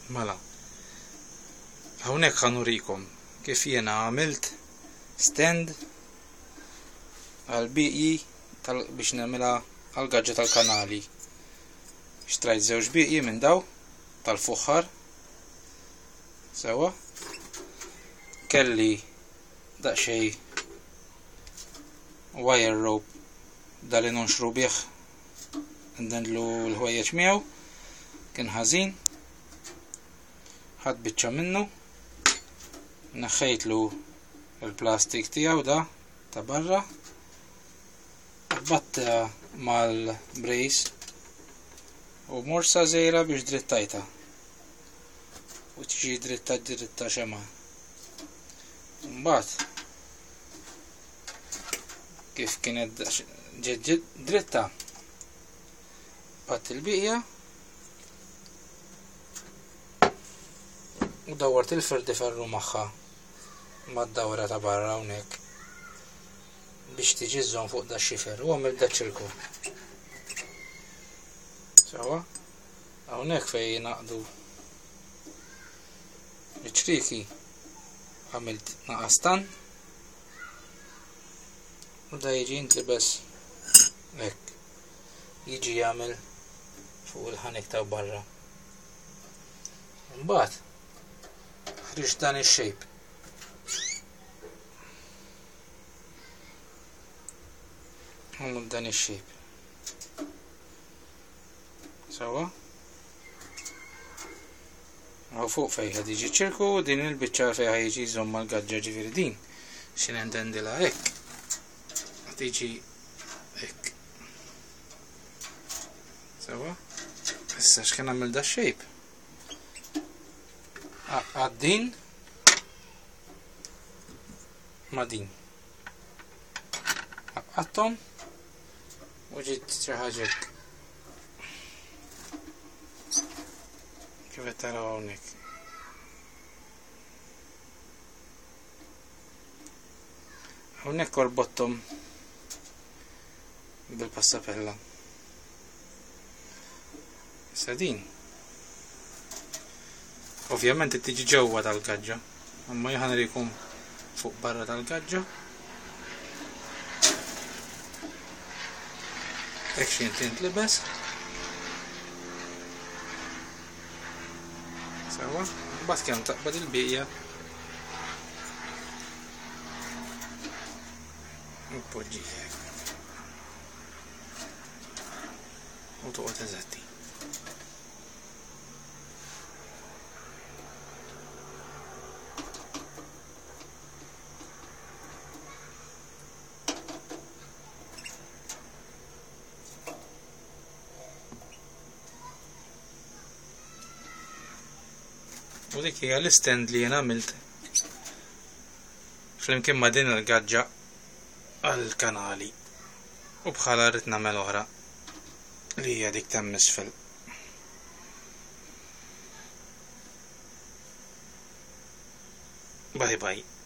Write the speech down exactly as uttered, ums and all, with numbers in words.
Mela, hawnhekk ħa nurikom kif jiena għamilt stand għal bieqji biex nagħmilha għal gaġġa tal-kanali. Xtrajt żewġ bieqji minn daw tal-fuħħar. Sewa. Kelli daqsxejn wire rope dali nonxru bih ndendlu l-ħwejjeġ miegħu, kien ħażin. Ħadt biċċa minnu, neħħejtlu il-plastik tiegħu da ta' barra, batta mal-brace u morsa żgħira biex drittajta u tiġi dritta dritta xema. Mbagħad kif kienet ġiet dritta, batt il-bqija u dawwart il-ferdi ferru magħha mad-dawra ta' barra hawnhekk biex tiġi żżomm fuq da xifer u għamil da ċirku. Sewa, hawnhekk fejn jingħaqdu iċ-ċrieki għamilt naqastan u da jiġi jintlibes hekk, jiġi jagħmel fuq il-ħanek ta' barra. Mbagħad ħriġ dan ix-shape. Għamlu dan ix-shape. Sewa. Għaw fuq fejn ħad jiġi ċirku, din il-biċċa fejn ħad jiġi jżomm mal-gaġġa, ġifieri din xi nendendilha hekk. Ħad tiġi hekk. Sewa. Issa x'kien nagħmel da shape? Għad din ma din. Għattom u ġiet xi ħaġa hekk. Kif qed taraw hawnhekk. Hawnhekk orbottom bil-passapella. Issa din ovvjament tiġi ġewwa tal-gaġġa, imma jien ħanrikom fuq barra tal-gaġġa. Hekk xi tintlibes. Sewa, mbagħad kemm taqbad il-bqija u tpoġġi hekk. U toqgħod eżatti. U dik hija l-istand li jien għamilt flimkien ma' din il-gaġġa għall-kanali u bħala rrid nagħmel oħra li hija dik ta' misfel. Bye bye.